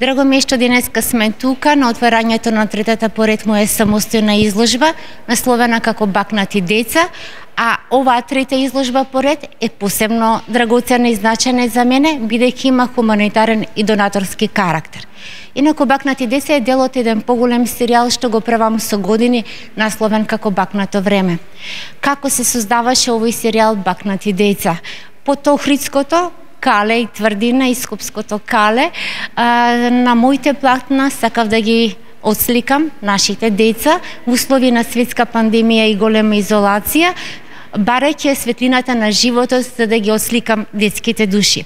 Драго ми е што денеска сме тука на отварањето на третата поред моја самостојна изложба, насловена како Бакнати деца, а оваа трета изложба поред е посебно драгоценна и значајна за мене, бидејќи има хуманитарен и донаторски карактер. Инаку Бакнати деца е дел од еден поголем серијал што го правам со години, насловен како Бакнато време. Како се создаваше овој серијал Бакнати деца? Под Охридското кале и тврдина и скопското кале, на моите платна сакав да ги отсликам нашите деца во услови на светска пандемија и голема изолација, барајќи светлината на животот за да ги отсликам детските души.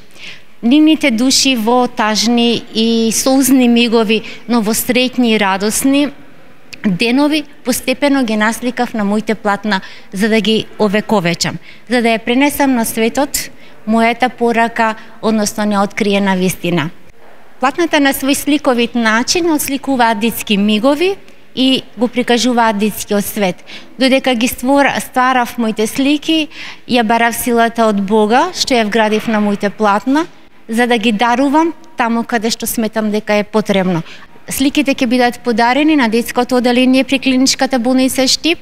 Нивните души во тажни и соузни мигови, но во среќни и радосни денови постепено ги насликав на моите платна за да ги овековечам, за да ја пренесам на светот мојата порака, односно неоткриена вистина. Платната на свој сликовит начин отсликуваат детски мигови и го прикажуваат детскиот свет. Додека ги стварав моите слики, ја барав силата од Бога, што ја вградив на моите платна, за да ги дарувам таму каде што сметам дека е потребно. Сликите ќе бидат подарени на детското оделение при клиничката болница Штип,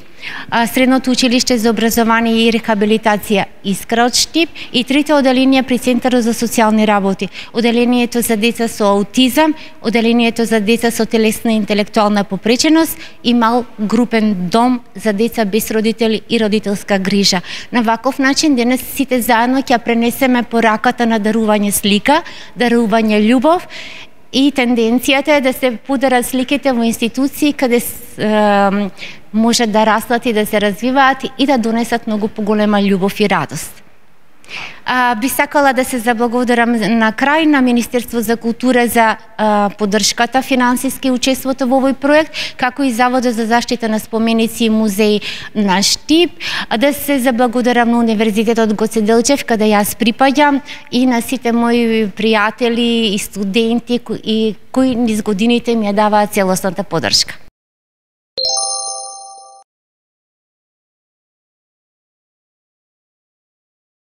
Средното училиште за образование и рехабилитација Искра од Штип и трите оделенија при Центарот за социјални работи. Оделението за деца со аутизам, оделението за деца со телесна и интелектуална попреченост и мал групен дом за деца без родители и родителска грижа. На ваков начин денес сите заедно ќе пренесеме пораката на дарување слика, дарување љубов, и тенденцијата е да се подарат сликите во институции каде може да растат и да се развиваат и да донесат многу поголема љубов и радост. Би сакала да се заблагодарам на крај на Министерство за култура за поддршката финансиски учеството во овој проект, како и Заводот за заштита на споменици и музеи на Штип, да се заблагодарам на Универзитетот Гоце Делчев, каде јас припаѓам, и на сите мои пријатели и студенти кои низ годините ми ја даваат целосната поддршка.